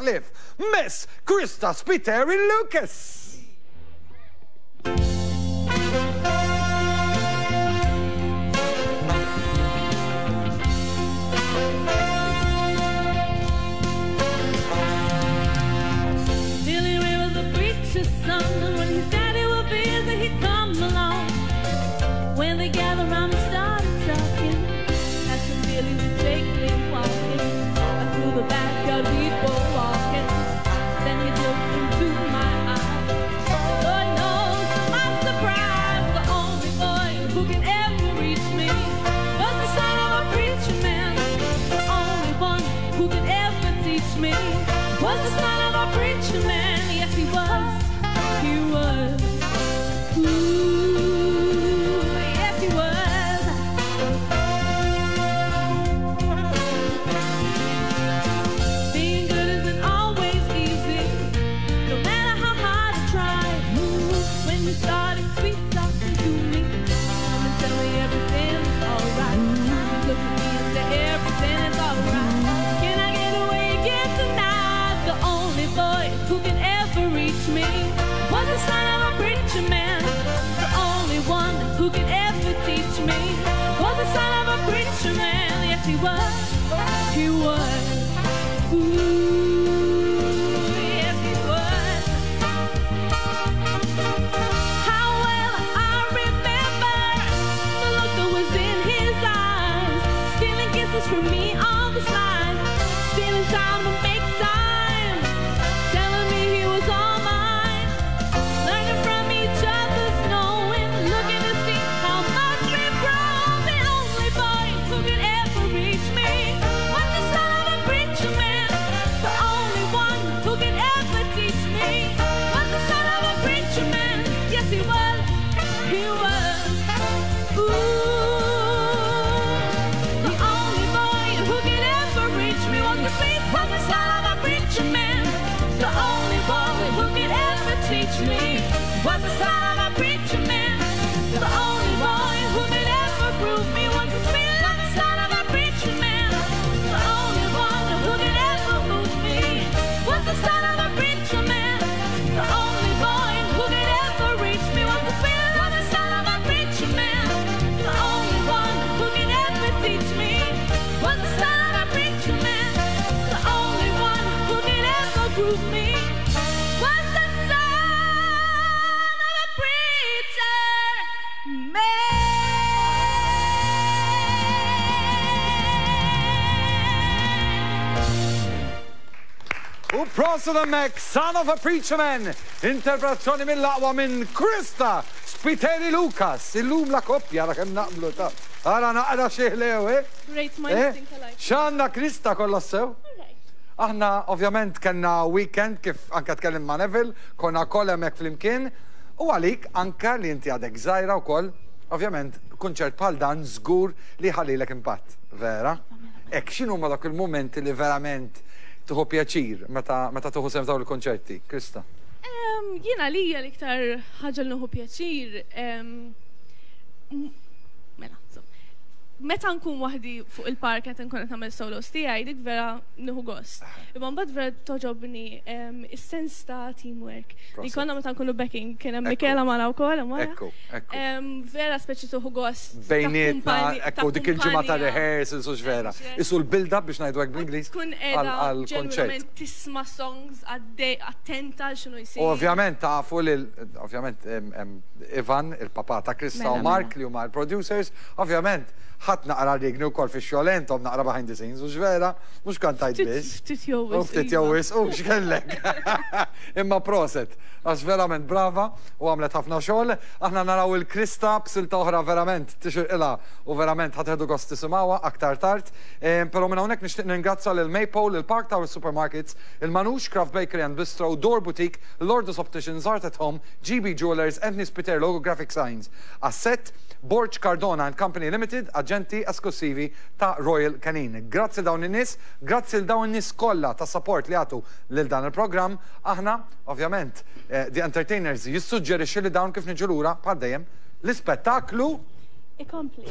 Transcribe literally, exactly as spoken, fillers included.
ħlief Miss Krista Spiteri Lucas. Billy Ray was a preacher's son, and when his daddy would visit, he'd come along. When they gathered round and started talking, Pastor Billy would take me walking. Through the backyard we'd go walking. Then he'd look into my eyes. Lord knows to my surprise, the only boy who could ever reach me was the son of a preacher man. The only one who could ever teach me was the son of a preacher man. Yes, he was. He was. Ooh, yes, he was. Being good isn't always easy, no matter how hard I try. Ooh, when you started sweet talking to me, come and tell me everything's alright. You look at me and say everything is alright. Can I get away again tonight? The only boy who can ever reach me was the son of a preacher man. The only one who could ever teach me was the son of a preacher man. Yes, he was. He was. Ooh, yes, he was. How well I remember the look that was in his eyes, stealing kisses from me on the slide, stealing time to make time, telling me he was all mine, learning from each other's knowing, looking to see how much we've grown. The only boy who could ever reach me was the son of a preacher man. The only one who could ever teach me was the son of a preacher man. Yes, he was. He was. Ooh, the only boy who could ever reach me was the sweet, was the son of a preacher man. The only boy who could ever teach me was the son of a preacher man. The only boy who could ever prove me was the sweet, was the son of a preacher man. The only one who could ever move me was the son of a preacher man. The only boy who could ever reach me was the sweet, was the son of a preacher man. The only one who could ever teach me was the son of a preacher man. The only one who could ever prove me was the son of a preacher man. U prosit hemmhekk, Son of a Preacher Man, interpretazzjoni mill-aqwa minn Krista Spiteri Lucas. Illum la koppja, ra kemm naqblu ta' Ara naqra xi ħlew, eh? Great minds Eh? think alike. X'għandna Krista kollha sew? Alright. Aħna ovvjament kellna weekend kif anka tkellim ma' Neville, konna koll hemmhekk flimkien, u għalik anka li inti għadek żgħira wkoll, ovvjament kunċert bħal dan żgur li ħallilek impatt, vera? Ek x'inhu ma dak il-momenti li verament tieħu pjaċir meta meta tieħu sehem f'dawn il-konċerti, Krista? Em, Jiena lija l-iktar ħaġa li nieħu pjaċir, em, m- mela, so, meta nkun waħdi fuq il-park qed nkun qed nagħmel solos tiegħi, dik vera nieħu gost. Imma mbagħad vera toġobni em, is-sens ta' teamwork. Li Prosit. konna meta nkunu backing, kien hemm Ekku. Michela magħna wkoll hemm wara. Ekku, ekku. Em, Vera speċi tieħu gost. ta' Bejnietna, kumpani- ta' ekku, dik il-ġimgħa ta' kumpanija. rehearsals u x'vera. Eċ. Isu l-build-up biex ngħidu hekk bl-Ingliż Tkun għal- qiegħda għal-konċert. ġenwinament tisma' songs għaddej attenta għal x'inhu jsir. U ovvjament tafu li ovvjament em, em, Ivan, il-papà ta' Krista u Mela, Mark mela. li huma l-producers, ovvjament ħadd naqra rigni wkoll fix-xogħol intom naqra behind the scenes u x'vera, mhux kantajt Ftit- biss. ftit jew U wisq, ftit iva. jew wisq, u x'kellek. Imma proset, għax verament brava u għamlet ħafna xogħol. Aħna naraw il-Krista b'silta oħra verament tixirqilha u verament ħa tieħdu gost tisimgħuha aktar tard. Em, Però minn hawnhekk nixtieq ningrazzja lil Maple, il Park Tower Supermarkets, il-Manouche Craft Bakery and Bistro, Door Boutique, Lourdes Opticians, Art at Home, G B Jewelers, Anthony Spiteri Logo Graphic Signs, Asset, Borg Cardona and Company Limited, aġenti esklusivi ta' Royal Canin. Grazzi dawn in-nies, grazzi l dawn in-nies kollha ta' support li għatu lil dan il-programm. Aħna, ovvjament, eh, The Entertainers jissuġġerixxi li dawn kif niġu lura bħal dejjem l-ispettaklu Ikompli.